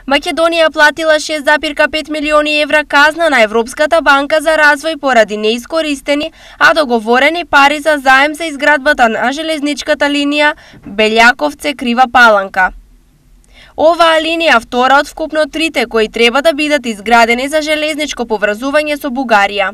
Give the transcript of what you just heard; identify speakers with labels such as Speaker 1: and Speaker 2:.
Speaker 1: Македонија платила 6,5 милиони евра казна на Европската банка за развој поради неискористени, а договорени пари за заем за изградбата на железничката линија Белјаковце-Крива Паланка. Оваа линија втора од вкупно трите кои треба да бидат изградени за железничко поврзување со Бугарија.